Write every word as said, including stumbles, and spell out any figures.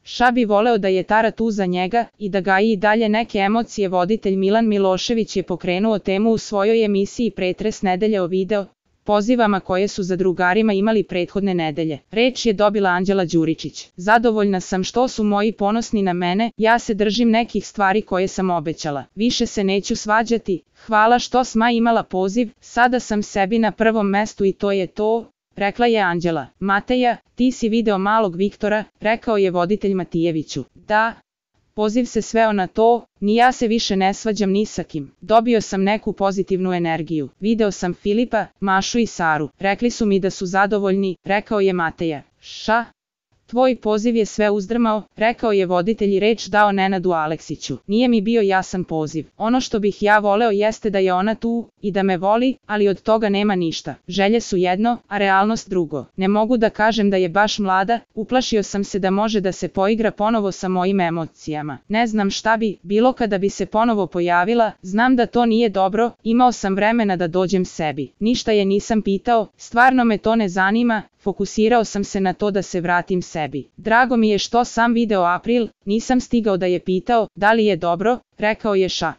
Ša bi voleo da je Tara tu za njega i da gaji i dalje neke emocije. Voditelj Milan Milošević je pokrenuo temu u svojoj emisiji Pretres nedelje o video pozivama koje su za drugarima imali prethodne nedelje. Reč je dobila Anđela Đuričić. Zadovoljna sam što su moji ponosni na mene, ja se držim nekih stvari koje sam obećala. Više se neću svađati, hvala što sma imala poziv, sada sam sebi na prvom mestu i to je to, rekla je Anđela. Mateja, ti si video malog Viktora, rekao je voditelj Matijeviću. Da. Poziv se sveo na to, ni ja se više ne svađam ni sa kim. Dobio sam neku pozitivnu energiju. Video sam Filipa, Mašu i Saru. Rekli su mi da su zadovoljni, rekao je Mateja. Ša? Tvoj poziv je sve uzdrmao, rekao je voditelj i reč dao Nenadu Aleksiću. Nije mi bio jasan poziv. Ono što bih ja voleo jeste da je ona tu i da me voli, ali od toga nema ništa. Želje su jedno, a realnost drugo. Ne mogu da kažem da je baš mlada, uplašio sam se da može da se poigra ponovo sa mojim emocijama. Ne znam šta bi bilo kada bi se ponovo pojavila, znam da to nije dobro, imao sam vremena da dođem sebi. Ništa je nisam pitao, stvarno me to ne zanima, fokusirao sam se na to da se vratim sebi. Drago mi je što sam video April, nisam stigao da je pitao, da li je dobro, rekao je Ša.